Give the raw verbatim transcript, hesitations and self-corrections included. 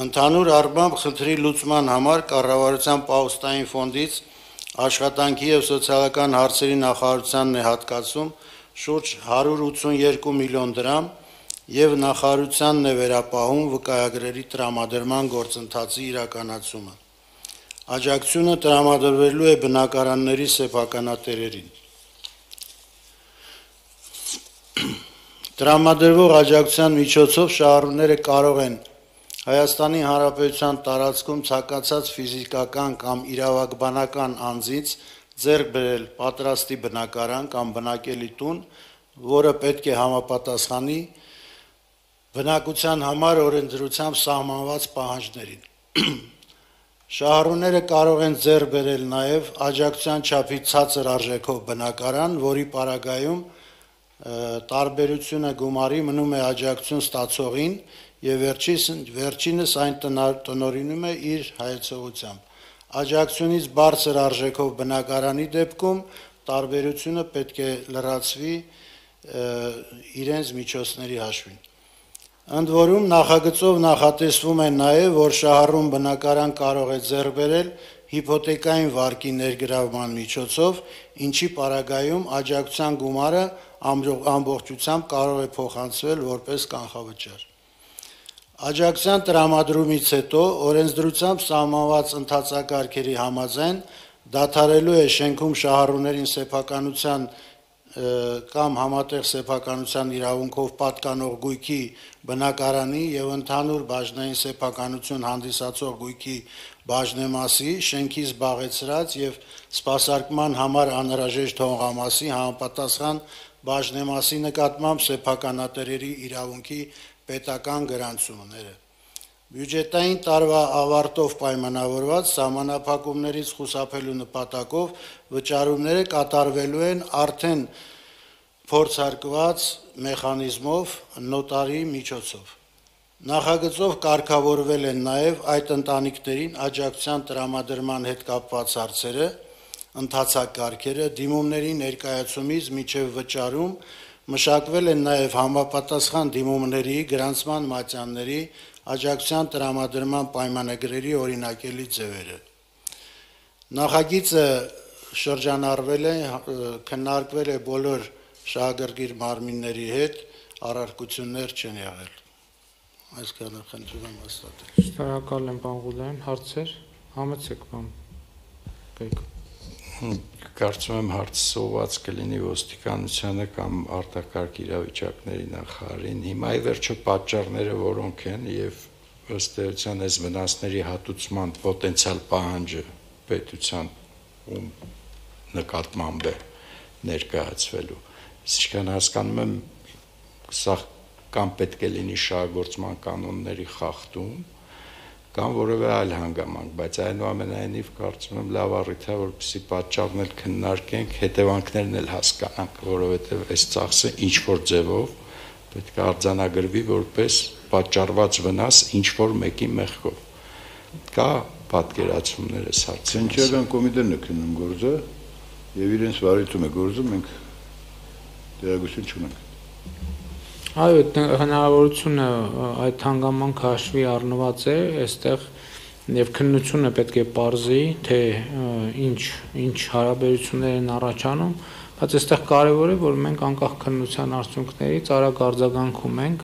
Ընդհանուր առմամբ խնդրի լուծման համար կառավարության պահուստային ֆոնդից աշխատանքի եւ սոցիալական հարցերի նախարարությանն է հատկացում շուրջ հարյուր ութսունյոթ միլիոն դրամ եւ նախարարությանն է վերապահում վկայագրերի տրամադրման գործընթացի իրականացումը։ Աջակցությունը տրամադրվելու է բնակարանների սեփականատերերին։ Տրամադրվող աջակցության միջոցով շահառուները կարող են Հայաստանի Հանրապետության տարածքում ցանկացած ֆիզիկական կամ իրավաբանական անձից ձեռք բերել պատրաստի բնակարան կամ բնակելի տուն, որը պետք է համապատասխանի բնակության համար օրենսդրությամբ սահմանված պահանջներին։ Շահառուները կարող են ձեռք բերել նաև աջակցության չափից ցածր արժեքով բնակարան, որի պարագայում տարբերությունը գումարի մնում է աջակցություն ստացողին եւ վերջինս այն տնօրինում է իր հայեցողությամբ։ Աջակցությունից բարձր արժեքով բնակարանի դեպքում տարբերությունը պետք է լրացվի իրենց միջոցների հաշվին։ Ընդ որում նախագծով նախատեսվում է նաև, որ շահառուն բնակարան կարող է ձեռք բերել հիփոթեկային վարկի ներգրավման միջոցով, ինչի պարագայում աջակցության գումարը ամբողջությամբ կարող է փոխանցվել որպես կանխավճար։ Աջակցության տրամադրումից հետո օրենսդրությամբ սահմանված ընթացակարգերի համաձայն դադարելու է շենքում շահառուներին սեփականության կամ համատեղ սեփականության իրավունքով պատկանող գույքի բնակարանի եւ ընդհանուր բաժնային սեփականություն հանդիսացող գույքի բաժնեմասի, շենքի զբաղեցրած եւ սպասարկման համար անհրաժեշտ հողամասի համապատասխան բաժնեմասի նկատմամբ սեփականատերերի իրավունքի պետական գրանցումները։ Բյուջետային տարվա ավարտով պայմանավորված սահմանափակումներից խուսափելու նպատակով վճարումները կատարվելու են արդեն փորձարկված մեխանիզմով նոտարի միջոցով։ Նախագծով կարգավորվել են նաև այդ ընտանիքներին աջակցության տրամադրման հետ կապված հարցերը, ընթացակարգերը, դիմումների ներկայացումից մինչև վճարում, մշակվել են նաև համապատասխան դիմումների, գրանցման մատյանների, աջակցության տրամադրման պայմանագրերի օրինակելի ձևերը։ Նախագիծը շրջանառվել է, քննարկվել է բոլոր շահագրգիռ մարմինների հետ, առարկություններ չեն եղել։ Այսքանը խնդրում եմ հաստատել։ Շնորհակալ եմ, պարոն Ղուլյան, հարցեր, համեցեք, պարոն Բեկ։ Կարծում եմ հարցը սոված կլինի ոստիկանությանը կամ արտակարգ իրավիճակների նախարարին։ Հիմա ի վերջո պատճառները որոնք են եւ ըստ էության այս վնասների հատուցման պոտենցիալ պահանջը պետության ում նկատմամբ է ներկայացվելու։ Ինչքան հասկանում եմ, սա կամ պետք է լինի շահագործման կանոնների խախտում, կամ որևէ այլ հանգամանք, բայց այնուամենայնիվ կարծում եմ լավ առիթ է, որպեսզի պատճառն էլ քննարկենք, հետևանքներն էլ հասկանանք, որովհետև այս ծախսը ինչ որ ձևով պետք է արձանագրվի որպես պատճառված վնաս ինչ որ մեկի մեղքով։ Կա պատկերացումներ այս հարցի։ Քննչական կոմիտեն է քննում գործը եւ իրենց վարույթում է գործում, մենք տեղեկություն չունենք։ Այո, հնարավորությունը այդ հանգամանքը հաշվի առնված է, այստեղ եւ քննությունը պետք է պարզի, թե ինչ ինչ հարաբերություններ են առաջանում, բայց այստեղ կարեւոր է, որ մենք անկախ քննության արդյունքներից արագ արձագանքում ենք